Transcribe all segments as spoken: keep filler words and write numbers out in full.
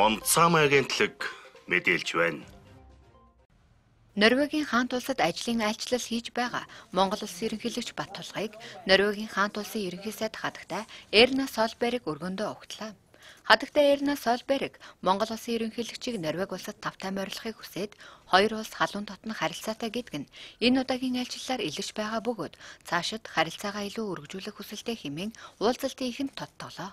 Монцам агентлаг мэдээлж байна. Норвегийн хаант улсад ажлын айлчлал хийж байгаа Монгол улсын ерөнхийлөгч Баттулгыг Норвегийн хаант улсын ерөнхий сайд хадагтай Эрна Солберг өргөндөө угтлаа. Хадагтай Эрна Солберг Монгол улсын ерөнхийлөгчийг Норвеги улсад тавтай морилохыг хүсээд хоёр улс халуун дотно харилцаатай гэдэг нь энэ удаагийн айлчлалаар илэрч байгаа бөгөөд цаашид харилцаагаа илүү өргөжүүлэх хүсэлтэй хэмээн уулзалтын ихэнд тодтоглоо.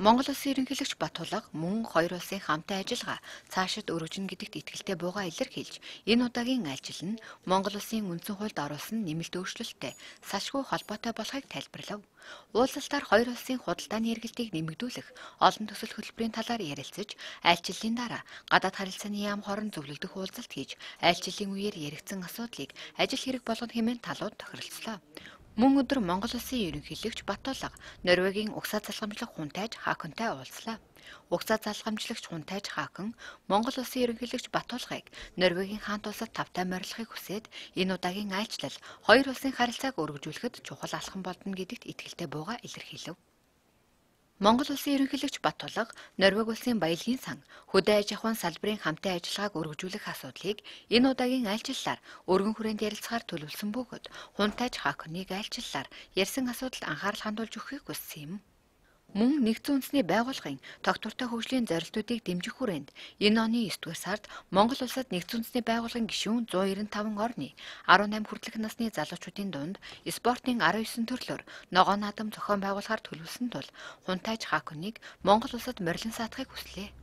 Монгол улсын ерөнхийлөгч Баттулга мөн хоёр улсын хамтын ажиллагаа цаашид өргөжнө гэдэгт итгэлтэй буйгаа илэрхийлж, энэ удаагийн айлчлал нь Монгол улсын үндсэн хуульд оруулсан нэмэлт өөрчлөлттэй салшгүй холбоотой болохыг тайлбарлав. Уулзалтаар хоёр улсын худалдааны эргэлтийг нэмэгдүүлэх олон төсөл хөтөлбөрийн талаар ярилцаж, айлчлалын дараа гадаад харилцааны яам хорон зөвлөгдөх уулзалт хийж, айлчлалын үеэр яригдсан асуудлыг ажил хэрэг болгоно хэмээн талууд тохиролцлоо. Мөн өдөр Монгол улсын ерөнхийлөгч Баттулга Норвегийн угсаа залгамжлах хунтайж Хааконтай уулзлаа. Угсаа залгамжлагч хунтайж Хаакон Монгол улсын ерөнхийлөгч Баттулгыг Норвегийн хаант улсад тавтай морилохыг хүсээд энэ удаагийн айлчлал хоёр улсын харилцааг өргөжүүлэхэд чухал алхам болно гэдэгт итгэлтэй буйгаа илэрхийлв. Монгол улсын ерөнхийлөгч Баттулга Норвеги улсын баялагын сан хөдөө аж ахуйн салбарын хамтын ажиллагааг өргөжүүлэх асуудлыг энэ удаагийн айлчлалаар өргөн хүрээнд ярилцахаар төлөвлөсөн бөгөөд хунтайж Хааконыг айлчлалаар ярьсан асуудалд анхаарал хандуулж өгөхийг хүссэн юм. Мөн нэгдсэн үндэсний байгууллагын тогтвортой хөгжлийн зорилтуудыг дэмжих хүрээнд энэ оны есдүгээр сард Монгол улсад нэгдсэн үндэсний байгууллагын гишүүн зуун найман таван орны арван найман хүртэлх насны залуучуудын дунд спортын арван есөн төрлөөр ногоон наадам зохион байгуулахаар төлөвлөсөн тул хунтайж Хааконыг Монгол улсад морилон саатахыг хүслээ.